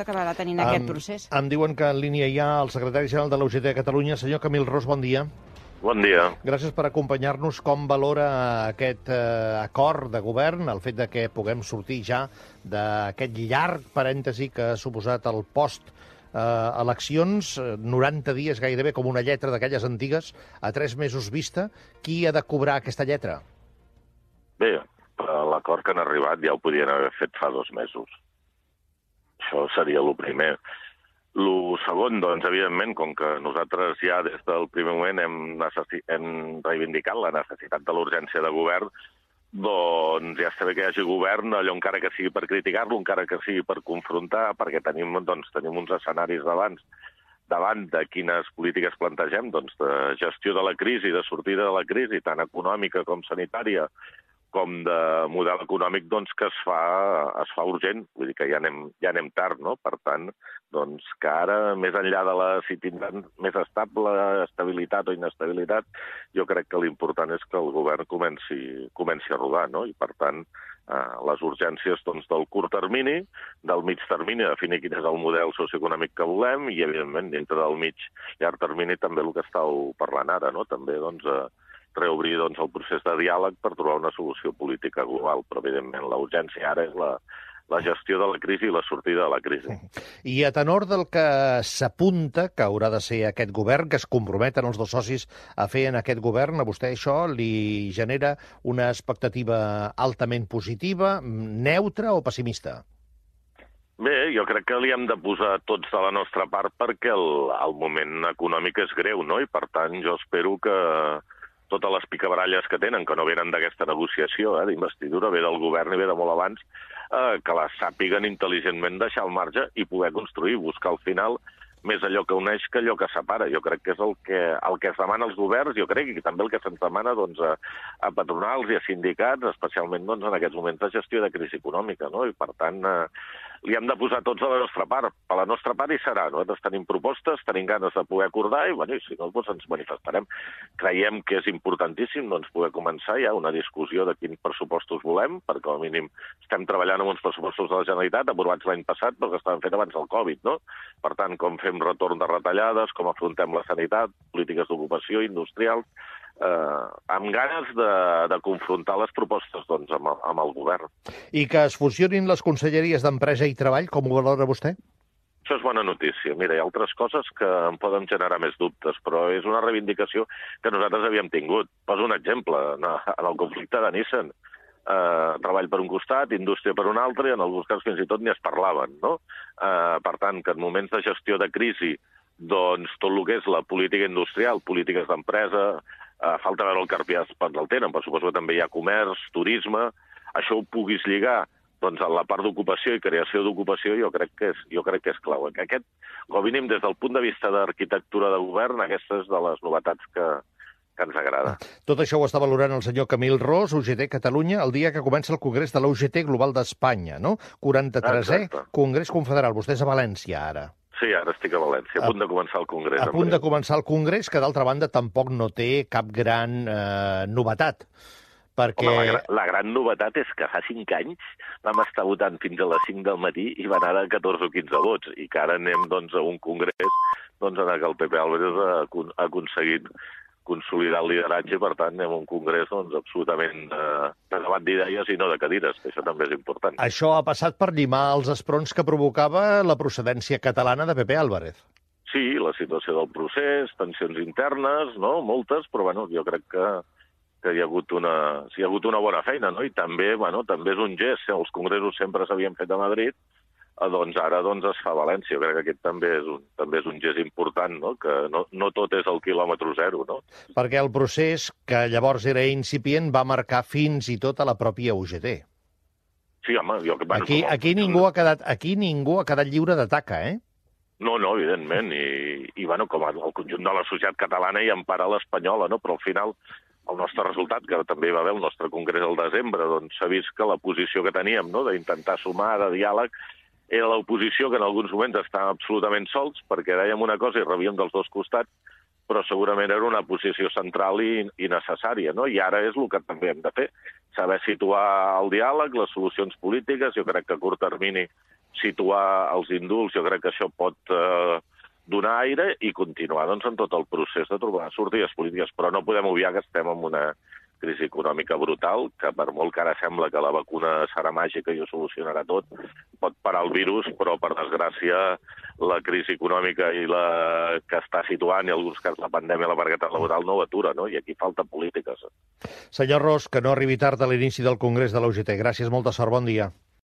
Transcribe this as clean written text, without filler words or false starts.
acabarà tenint aquest procés. Em diuen que en línia hi ha el secretari general de la UGT de Catalunya, senyor Camil Ros, bon dia. Bon dia. Gràcies per acompanyar-nos. Com valora aquest acord de govern, el fet de que puguem sortir ja d'aquest llarg parèntesi que ha suposat el post-eleccions, 90 dies gairebé com una lletra d'aquelles antigues, a 3 mesos vista? Qui ha de cobrar aquesta lletra? Bé, l'acord que han arribat ja ho podien haver fet fa 2 mesos. Això seria el primer. El segon, doncs, evidentment, com que nosaltres ja des del primer moment hem reivindicat la necessitat de l'urgència de govern, doncs ja està bé que hi hagi govern, allò encara que sigui per criticar-lo, encara que sigui per confrontar, perquè tenim uns escenaris davant de quines polítiques plantegem, doncs de gestió de la crisi, de sortida de la crisi, tant econòmica com sanitària, com de model econòmic, doncs, que es fa urgent. Vull dir que ja anem tard, no? Per tant, doncs, que ara, més enllà de si tindran més estabilitat o inestabilitat, jo crec que l'important és que el govern comenci a rodar, no? I, per tant, les urgències doncs, del curt termini, del mig termini, definir quin és el model socioeconòmic que volem i, evidentment, dintre del llarg termini també el que estàveu parlant ara, no? També, doncs, reobrir el procés de diàleg per trobar una solució política global, però evidentment la urgència ara és la gestió de la crisi i la sortida de la crisi. I a tenor del que s'apunta que haurà de ser aquest govern, que es comprometen els dos socis a fer en aquest govern, a vostè això li genera una expectativa altament positiva, neutra o pessimista? Bé, jo crec que li hem de posar tots de la nostra part perquè el moment econòmic és greu, no? I per tant jo espero que totes les picabaralles que tenen, que no venen d'aquesta negociació d'investidura, ve del govern i ve de molt abans, que les sàpiguen intel·ligentment deixar al marge i poder construir, buscar al final més allò que uneix que allò que separa. Jo crec que és el que es demana als governs, jo crec, i també el que se'ns demana a patronals i a sindicats, especialment en aquests moments de gestió de crisi econòmica, no? I per tant li hem de posar tots a la nostra part. A la nostra part hi serà. Nosaltres tenim propostes, tenim ganes de poder acordar i si no, doncs ens manifestarem. Creiem que és importantíssim poder començar ja una discussió de quins pressupostos volem, perquè com a mínim estem treballant amb uns pressupostos de la Generalitat aprovats l'any passat, però que estaven fets abans del Covid, no? Per tant, com fem retorn de retallades, com afrontem la sanitat, polítiques d'ocupació, industrials, amb ganes de confrontar les propostes amb el govern. I que es fusionin les conselleries d'Empresa i Treball, com ho valora vostè? Això és bona notícia. Mira, hi ha altres coses que em poden generar més dubtes, però és una reivindicació que nosaltres havíem tingut. Poso un exemple. En el conflicte de Nissan, treball per un costat, indústria per un altre, i en alguns casos fins i tot ni es parlaven, no? Per tant, que en moments de gestió de crisi, doncs tot el que és la política industrial, polítiques d'empresa, falta veure el carpiàs el tenen, però suposo que també hi ha comerç, turisme, això ho puguis lligar doncs a la part d'ocupació i creació d'ocupació, jo crec que és clau. Aquest, com a mínim, des del punt de vista d'arquitectura de govern, aquesta és de les novetats que ens agrada. Tot això ho està valorant el senyor Camil Ros, UGT Catalunya, el dia que comença el Congrés de la UGT Global d'Espanya, no? 43è Congrés Confederal. Vostè és a València, ara. Sí, ara estic a València, a punt de començar el Congrés. A punt de començar el Congrés, que d'altra banda tampoc no té cap gran novetat. Perquè... Home, la gran novetat és que fa 5 anys vam estar votant fins a les 5 del matí i van anar 14 o 15 vots, i que ara anem a un congrés en què el PP Álvarez ha aconseguit consolidar el lideratge, i per tant anem a un congrés absolutament de debat d'idees i no de cadires, que això també és important. Això ha passat per llimar els esperons que provocava la procedència catalana de PP Álvarez. Sí, la situació del procés, tensions internes, no? Moltes, però jo crec que hi ha hagut una bona feina, no? I també és un gest. Els congressos sempre s'havien fet a Madrid, doncs ara es fa a València. Jo crec que aquest també és un gest important, no? Que no tot és el quilòmetre zero, no? Perquè el procés, que llavors era incipient, va marcar fins i tot a la pròpia UGT. Sí, home... Aquí ningú ha quedat lliure de taca, eh? No, evidentment. I com el conjunt de la societat catalana i empara l'espanyola, no? Però al final el nostre resultat, que també hi va haver el nostre congrés al desembre, doncs s'ha vist que la posició que teníem, no?, d'intentar sumar, de diàleg, era l'oposició que en alguns moments estàvem absolutament sols, perquè dèiem una cosa i rebíem dels dos costats, però segurament era una posició central i necessària, no? I ara és el que també hem de fer, saber situar el diàleg, les solucions polítiques. Jo crec que a curt termini situar els indults, jo crec que això pot donar aire i continuar doncs, en tot el procés de trobar sortides polítiques. Però no podem obviar que estem en una crisi econòmica brutal, que per molt que ara sembla que la vacuna serà màgica i ho solucionarà tot, pot parar el virus, però per desgràcia la crisi econòmica i la que està situant, i en alguns casos la pandèmia, la precarietat laboral, no ho atura, no? I aquí falten polítiques. Senyor Ros, que no arribi tard a l'inici del Congrés de la UGT. Gràcies, molta sort, bon dia.